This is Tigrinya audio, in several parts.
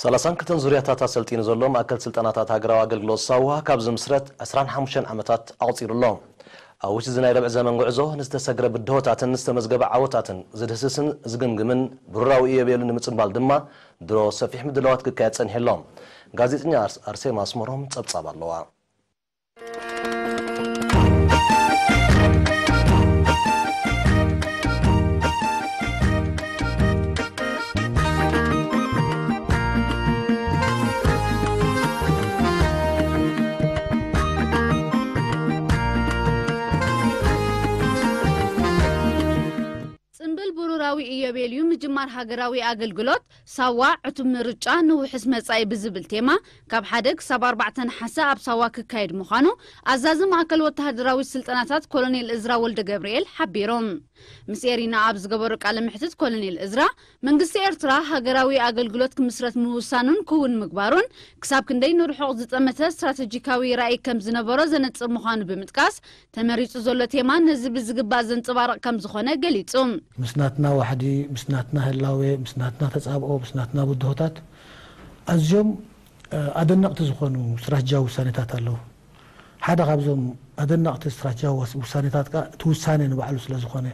ሰላሳን ክልተን ዙርያታት ኣሰልጢኑ ዘሎ ማእከል ስልጠናታት ሃገራዊ ኣገልግሎት ሳዋ ካብ ዝምስረት ዕስራን ሓሙሽተን ዓመታት ኣቑጺሩ ኣሎ። ኣብ ውሽጢ እዚ ናይ ርብዒ ዘመን ጉዕዞ ንዝተሰግረ ብድሆታትን ዝተመዝገበ ዓወታትን ዝድህስስን ዝግምግምን ብሩራዊ ኢዮቤልዩ ንምጽንባል ድማ ድሮ ሰፊሕ ምድላዋት ክካየድ ጸኒሑ ኣሎ። ጋዜጠኛ ኣርስ-፣ ኣርሴማ ኣስመሮም ጸብጻብ ኣለዋ። ጽምብል ብሩራዊ ኢዮቤልዩ ምጅማር ሃገራዊ ኣገልግሎት ሳዋ ዕቱብ ምርጫ ንውሕስ መጻኢ ብዝብል ቴማ ካብ ሓደ ክሳብ ኣርባዕተ ነሓሰ ኣብ ሳዋ ክካየድ ምዃኑ ኣዛዚ ማእከል ወተሃደራዊ ስልጠናታት ኮሎኔል እዝራ ወልደ ገብርኤል ሓቢሮም። ምስ ኤሪና ኣብ ዝገበሮ ቃለ መሕትት ኮሎኔል እዝራ፣ መንግስቲ ኤርትራ ሃገራዊ ኣገልግሎት ክምስረት ምውሳኑን ክውን ምግባሩን ክሳብ ክንደይ ንርሑቕ ዝጠመተ ስትራተጂካዊ ራእይ ከም ዝነበሮ ዘነጽር ምዃኑ ብምጥቃስ፣ ተመሪጹ ዘሎ ቴማ ነዚ ብዝግባእ ዘንጸባርቕ ከም ዝኾነ ገሊጹ። ምስ ናትና ዋሕዲ፣ ምስ ናትና ህላዌ፣ ምስ ናትና ተጻብኦ፣ ምስ ናትና ብድሆታት ኣዝዮም፣ እ፣ ኣደነቕቲ ዝኾኑ ስትራተጂያዊ ውሳኔታት ኣለዉ። ሓደ ካብዞም ኣደነቕቲ ስትራተጂያዊ ወስ-፣ ውሳኔታት ከኣ እቲ ውሳኔ ንባዕሉ ስለ ዝኾነ፣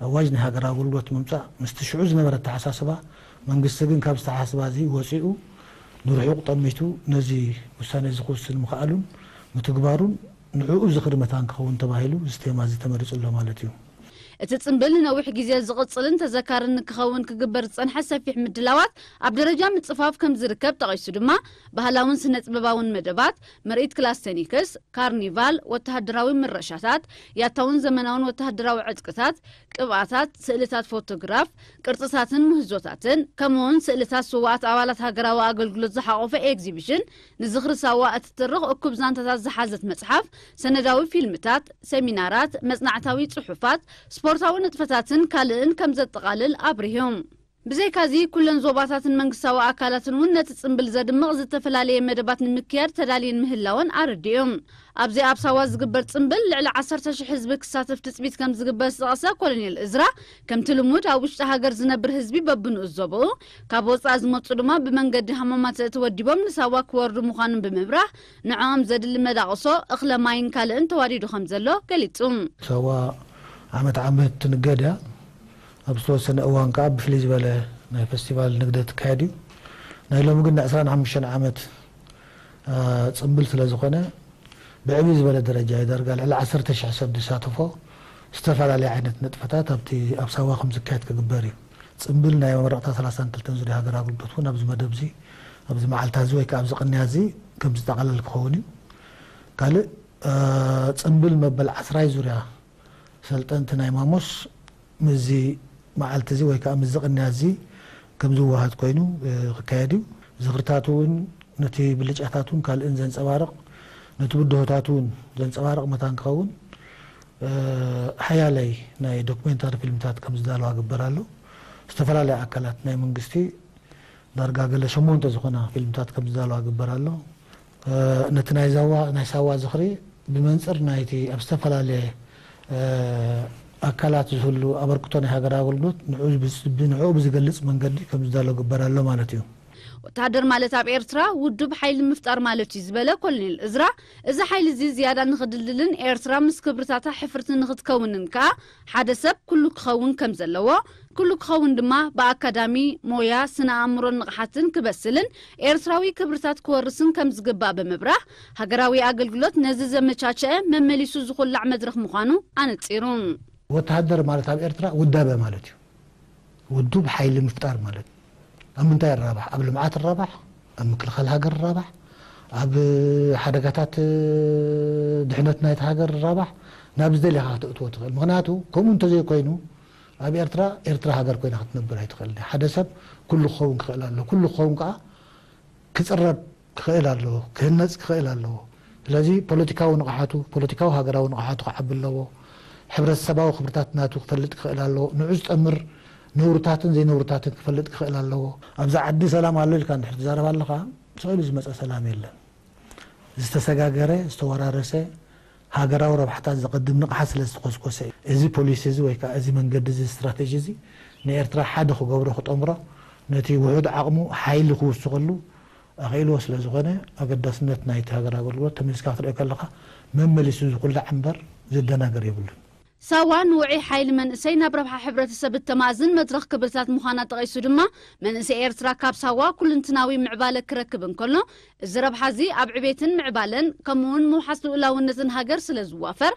ኣዋጅ ናይ ሃገራዊ ኣገልግሎት ምምጻእ ምስቲ ሽዑ ዝነበረ ኣተሓሳስባ፣ መንግስቲ ግን ካብ ዝተሓሳስባ እዚ ወጺኡ ንርሑቕ ጠሚቱ ነዚ ውሳኔ እዚ ክውስን ምኽኣሉን ምትግባሩን ንዕኡ ዝኽሪ መታን ክኸውን ተባሂሉ እዚ ቴማ እዚ ተመሪጹ ኣሎ ማለት እዩ። እቲ ጽምብል ንነዊሕ ግዜ ዝቕጽልን ተዘካርን ንክኸውን ክግበር ዝጸንሐ ሰፊሕ ምድላዋት ኣብ ደረጃ ምጽፋፍ ከም ዝርከብ ጠቒሱ ድማ፣ ባህላውን ስነ-ጥበባውን መደባት፣ ምርኢት ክላስተኒክስ፣ ካርኒቫል፣ ወተሃደራዊ ምረሻታት፣ ያታውን ዘመናውን ወተሃደራዊ ዕጥቅታት፣ ቅብኣታት፣ ስእልታት ፎቶግራፍ፣ ቅርጽታትን ምህዞታትን፣ ከምኡውን ስእልታት ስዉኣት ኣባላት ሃገራዊ ኣገልግሎት ዝሓቖፈ ኤግዚቢሽን፣ ንዝኽሪ ሳዋ እትትርኽ እኩብ ዛንታታት ዝሓዘት መጽሓፍ፣ ሰነዳዊ ፊልምታት፣ ሰሚናራት፣ መጽናዕታዊ ጽሑፋት፣ ስፖርታዊ ንጥፈታትን ካልእን ከም ዘጠቓልል ኣብሪሁ። ብዘይካዚ፣ ኩለን ዞባታትን መንግስታዊ ኣካላትን እውን ነቲ ጽምብል ዘድምቕ ዝተፈላለየ መደባት ንምክያድ ተዳልየን ምህላወን ኣረዲኡ። ኣብዚ ኣብ ሳዋ ዝግበር ጽምብል ልዕሊ ዓሰርተ ሽሕ ህዝቢ ክሳተፍ ትጽቢት ከም ዝግበር ዝጠቐሰ ኮሎኔል እዝራ፣ ከምቲ ልሙድ ኣብ ውሽጢ ሃገር ዝነብር ህዝቢ በብንኡስ ዞባኡ፣ ካብ ወጻኢ ዝመጹ ድማ ብመንገዲ ሃማማተ ተወዲቦም ንሳዋ ክወርዱ ምዃኖም ብምብራህ፣ ንዕኦም ዘድሊ መዳቕሶ፣ እኽለ ማይን ካልእን ተዋዲዱ ከም ዘሎ ገሊጹ። ሳዋ ዓመት ዓመት ትንገድ እያ። ኣብ ዝተወሰነ እዋን ከኣ ብፍልይ ዝበለ ናይ ፈስቲቫል ንግደት ትካየድ እዩ። ናይ ሎሚ ግን ናይ ዕስራን ሓሙሽተን ዓመት፣ አ፣ ጽምብል ስለ ዝኾነ፣ ብዕብይ ዝበለ ደረጃ እዩ። ዳርጋ ልዕሊ ዓሰርተ ሽሕ ሰብ ዝሳተፎ ዝተፈላለየ ዓይነት ንጥፈታት ኣብቲ ኣብ ሳዋ ከም ዝካየድ ክግበር እዩ። ጽምብል ናይ መመረቕታ ሰላሳን ክልተን ዙርያ ሃገር ኣገልግሎት እውን ኣብዚ መደብ እዚ፣ ኣብዚ መዓልታ እዚ ወይ ከዓ ኣብዚ ቅንያ እዚ ከም ዝጠቓለል ክኸውን እዩ። ካልእ፣ እ፣ ጽምብል መበል ዓስራይ ዙርያ ሰልጠንቲ ናይ ማሞስ ምስዚ መዓልቲ እዚ ወይ ከዓ ምስዚ ቅንያ እዚ ከም ዝወሃድ ኮይኑ፣ እ፣ ክካየድ እዩ። ዝኽርታት እውን ነቲ ብልጫታት እውን ካልእን ዘንጸባርቕ፣ ነቲ ብድሆታት እውን ዘንጸባርቕ መታን ክኸውን፣ እ፣ ሓያለይ ናይ ዶክሜንታሪ ፊልምታት ከም ዝዳለዋ ግበር ኣሎ። ዝተፈላለያ ኣካላት ናይ መንግስቲ ዳርጋ ገለ ሸሞንተ ዝኾና ፊልምታት ከም ዝዳለዋ ግበር ኣሎ። እ፣ ነቲ ናይ ዛዋ-፣ ናይ ሳዋ ዝኽሪ ብመንጽር ናይቲ ኣብ ዝተፈላለየ፣ እ፣ ኣካላት ዝህሉ ኣበርክቶ ናይ ሃገራዊ ኣገልግሎት ንዕኡ ብዝ-፣ ብንዕኡ ብዝገልጽ መንገዲ ከም ዝዳሎ ግበር ኣሎ ማለት እዩ። ወተሃደር ማለት ኣብ ኤርትራ ውዱብ ሓይሊ ምፍጣር ማለት እዩ ዝበለ ኮሎኔል እዝራ፣ እዚ ሓይሊ እዚ ዝያዳ ንኽድልድልን ኤርትራ ምስ ክብርታታ ሕፍርቲ ንኽትከውንን ከኣ ሓደ ሰብ ኩሉ ክኸውን ከም ዘለዎ፣ ኩሉ ክኸውን ድማ ብኣካዳሚ፣ ሞያ፣ ስነ ኣእምሮን ንቕሓትን ክበስልን ኤርትራዊ ክብርታት ክወርስን ከም ዝግባእ ብምብራህ፣ ሃገራዊ ኣገልግሎት ነዚ ዘመቻቸአ መመሊሱ ዝኹላዕ መድረኽ ምዃኑ ኣነጺሩ። ወተሃደር ማለት ኣብ ኤርትራ ውዳበ ማለት እዩ። ውዱብ ሓይሊ ምፍጣር ማለት ኣብ ምንታይ ይራባሕ? ኣብ ልምዓት ይራባሕ፣ ኣብ ምክልኻል ሃገር ይራባሕ፣ ኣብ ሓደጋታት ድሕነት ናይቲ ሃገር ይራባሕ። ናብ ዝደለኻ ከተእትዎ ትኽእል። ምኽንያቱ ከምኡ እንተዘይኮይኑ ኣብ ኤርትራ፣ ኤርትራ ሃገር ኮይና ክትነብር ኣይትኽእልን እያ። ሓደ ሰብ ኩሉ ክኸውን ክኽእል ኣለዎ። ኩሉ ክኸውን ከኣ ክጽረብ ክኽእል ኣለዎ፣ ክህነጽ ክኽእል ኣለዎ። ስለዚ ፖለቲካዊ ንቕሓቱ፣ ፖለቲካዊ ሃገራዊ ንቕሓቱ ክዓቢ ኣለዎ። ሕብረተሰባዊ ክብርታት ናቱ ክፈልጥ ክኽእል ኣለዎ። ንዑ ዝጠምር ነውርታትን ዘይነውርታትን ክፈልጥ ክኽእል ኣለዎ። ኣብዚ ዓዲ ሰላም ኣሎ ኢልካ እንድሕር ትዛረብ ኣለኻ፣ ስቕ ኢሉ ዝመጸ ሰላም የለን። ዝተሰጋገረ፣ ዝተወራረሰ ሃገራዊ ረብሓታት ዘቐድም ንቕሓት ስለ ዝተኾስኮሰ እዩ። እዚ ፖሊሲ እዚ ወይ ከኣ እዚ መንገዲ እዚ፣ ስትራተጂ እዚ ንኤርትራ ሓደ ክገብሮ፣ ክጠምሮ፣ ነቲ ውሑድ ዓቕሙ ሓይሊ ክውስኸሉ ኣኽኢልዎ ስለ ዝኾነ፣ ኣገዳስነት ናይቲ ሃገር ኣገልግሎት ተመሊስካ ክትሪኦ ከለኻ መመሊሱ ዝኹላዕ እምበር ዘደናገር የብሉን። ሳዋ ንውዑይ ሓይሊ መንእሰይ ናብ ረብሓ ሕብረተሰብ እተማእዝን መድረኽ ክብርታት ምዃና ጠቒሱ ድማ፣ መንእሰይ ኤርትራ ካብ ሳዋ ኩልንትናዊ ምዕባለ ክረክብ እንከሎ፣ እዚ ረብሓ እዚ ኣብ ዕቤትን ምዕባለን ከምኡውን ምውሓስ ልኡላውነትን ሃገር ስለ ዝዋፈር፣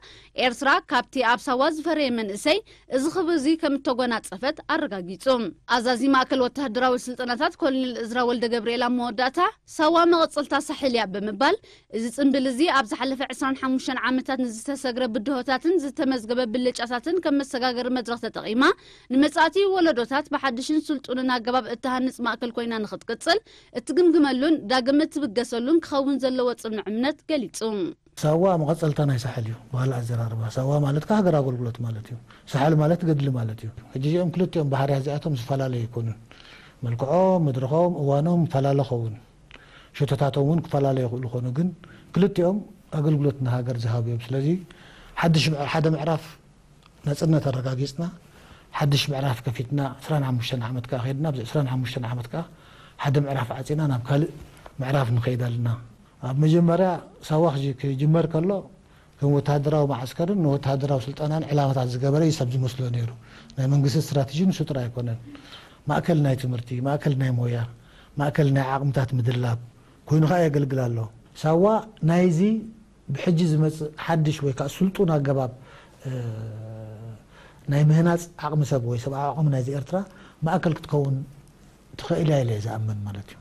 ኤርትራ ካብቲ ኣብ ሳዋ ዝፈረየ መንእሰይ እዚ ክብሪ እዚ ከም እተጎናጸፈት ኣረጋጊጹ። ኣዛዚ ማእከል ወተሃደራዊ ስልጠናታት ኮሎኔል እዝራ ወልደ ገብርኤል ኣብ መወዳእታ፣ ሳዋ መቐጸልታ ሳሕል እያ ብምባል፣ እዚ ጽምብል እዚ ኣብ ዝሓለፈ ዕስራን ሓሙሽተን ዓመታት ንዝተሰግረ ብድሆታትን ዝተመዝገበ ብልጫታትን ከም መሰጋገሪ መድረኽ ተጠቒማ፣ ንመጻእቲ ወለዶታት ብሓድሽን ስልጡንን ኣገባብ እትሃንጽ ማእከል ኮይና ንኽትቅጽል እትግምግመሉን ዳግም እትብገሰሉን ክኸውን ዘለዎ ጽኑዕ እምነት ገሊጹ። ሳዋ መቐጸልታ ናይ ሳሕል እዩ። ብኻልእ ኣዘራርባ፣ ሳዋ ማለት ከኣ ሃገር ኣገልግሎት ማለት እዩ። ሳሕል ማለት ገድሊ ማለት እዩ። ሕጂ እዚኦም ክልቲኦም ባህርያት እዚኣቶም ዝተፈላለዩ ኣይኮኑን። መልክዖም፣ መድረኾም፣ እዋኖም ይፈላለ ኸውን። ሸቶታቶም እውን ክፈላለዩ ይኽእሉ ኾኑ፣ ግን ክልቲኦም ኣገልግሎት ንሃገር ዝሃቡ እዮም። ስለዚ ሓድሽ ምዕ-፣ ሓደ ምዕራፍ ናጽነት ኣረጋጊጽና፣ ሓድሽ ምዕራፍ ከፊትና፣ ዕስራን ሓሙሽተን ዓመት ከኣ ከይድና፣ ኣብዚ ዕስራን ሓሙሽተን ዓመት ከኣ ሓደ ምዕራፍ ዓጺና ናብ ካልእ ምዕራፍ ንኸይድ ኣለና። ኣብ መጀመርያ ሳዋ ክጅ-፣ ክጅመር ከሎ፣ ከም ወተሃደራዊ መዓስከርን ንወተሃደራዊ ስልጠናን ዕላማታት ዝገበረ እዩ ሰብ ዝመስሎ ነይሩ። ናይ መንግስቲ ስትራተጂ ንሱ ጥራይ ኣይኮነን። ማእከል ናይ ትምህርቲ፣ ማእከል ናይ ሞያ፣ ማእከል ናይ ዓቕምታት ምድላብ ኮይኑ ከኣ የገልግል ኣሎ። ሳዋ ናይዚ ብሕጂ ዝመጽእ ሓድሽ ወይ ከኣ ስልጡን ኣገባብ፣ እ፣ ናይ ምህናጽ ዓቕሚ ሰብ ወይ ሰብኣዊ ዓቕሚ ናይዚ ኤርትራ ማእከል ክትከውን ትኽእል እያ ኢለ እየ ዝኣምን ማለት እዩ።